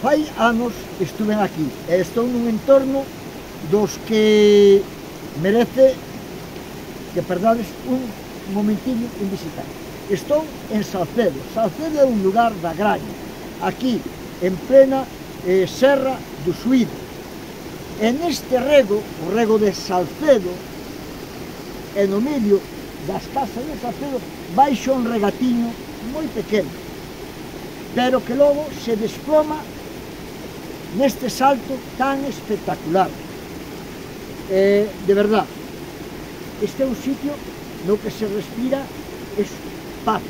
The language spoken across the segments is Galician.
fai anos estuve aquí e estou nun entorno dos que merece que perdades un momentillo en visitar. Estou en Salcedo. Salcedo é un lugar da Graña, aquí en plena Serra do Suído. E neste rego, o rego de Salcedo, e no medio das casas de Salcedo, baixo un regatiño moi pequeno, pero que logo se desploma neste salto tan espectacular. De verdad, este é un sitio no que se respira es paz.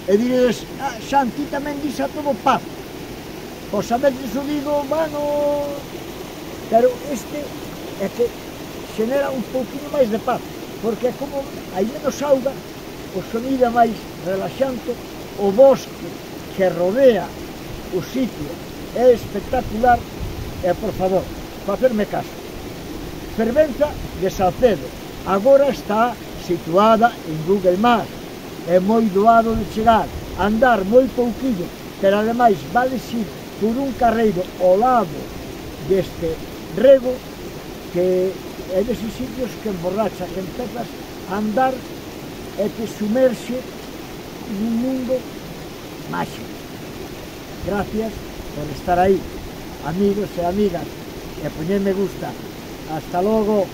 E diredes, Santi tamén dixe a todo paz. Pois a veces o digo, bueno, pero este é que xenera un pouquinho máis de paz, porque é como hai menos auga, o sonido é máis relaxante, o bosque que rodea o sitio é espectacular, e por favor, facerme caso. Fervenza de Salcedo, agora está situada en Google Maps, é moi doado de chegar, andar moi pouquinho, pero ademais vales ir por un carreiro ao lado deste rego que é deses sitios que emborracha, que empezas a andar e te sumerxe nun mundo máxico. Gracias por estar aí, amigos e amigas, e poñer me gusta. Hasta logo.